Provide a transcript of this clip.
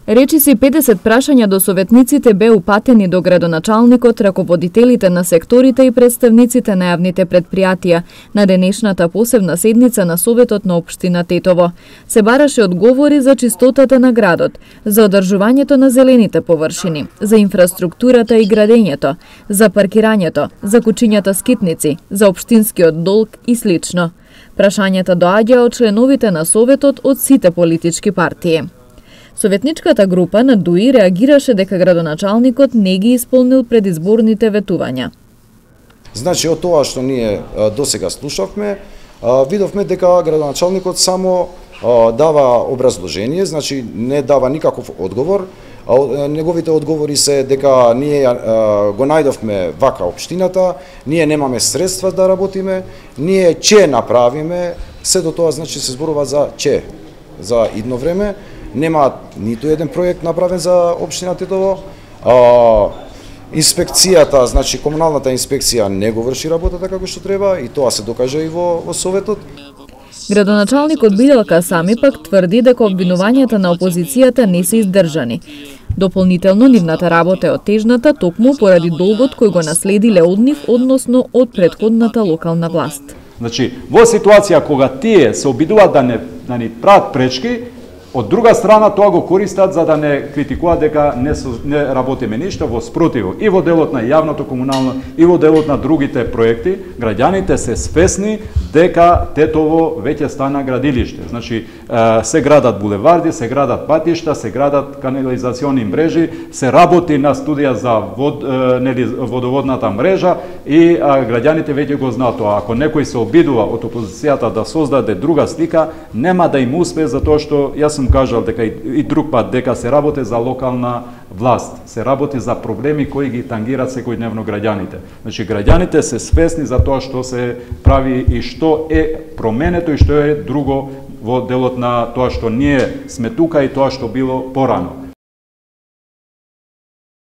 Речиси 50 прашања до советниците бе упатени до градоначалникот, раководителите на секторите и представниците на јавните предпријатија на денешната посебна седница на Советот на општина Тетово. Се бараше одговори за чистотата на градот, за одржувањето на зелените површини, за инфраструктурата и градењето, за паркирањето, за кучињата скитници, за општинскиот долг и слично. Прашањата доаѓаа од членовите на Советот од сите политички партии. Советничката група на ДУИ реагираше дека градоначалникот не ги исполнил предизборните ветувања. Значи, од тоа што ние досега слушавме, видовме дека градоначалникот само дава образложение, значи не дава никаков одговор. Неговите одговори се дека ние го најдовме вака општината, ние немаме средства да работиме, ние ќе направиме, се до тоа значи се зборува за ќе, за идно време. Нема ниту еден проект направен за општина Тетово. Инспекцијата, значи комуналната инспекција не го врши работата како што треба и тоа се докажа и во Советот. Градоначалникот Биделка Сами пак тврди дека обвинувањата на опозицијата не се издржани. Дополнително, нивната работа е отежната токму поради долгот кој го наследиле од нив, односно од претходната локална власт. Значи, во ситуација кога тие се обидуваат да ни прават пречки, од друга страна тоа го користат за да не критикуваат дека не работиме ништо, во спротиво. И во делот на јавното комунално, и во делот на другите проекти, граѓаните се свесни дека Тетово веќе стана градилиште. Значи, се градат булеварди, се градат патишта, се градат канализациони мрежи, се работи на студија за водоводната мрежа и граѓаните веќе го знаат тоа. Ако некој се обидува од опозицијата да создаде друга слика, нема да им успее, затоа што јас сум кажал дека и друг пат дека се работи за локална власт, се работи за проблеми кои ги тангираат секојдневно граѓаните. Значи граѓаните се свесни за тоа што се прави и што е променето и што е друго во делот на тоа што ние сме тука и тоа што било порано.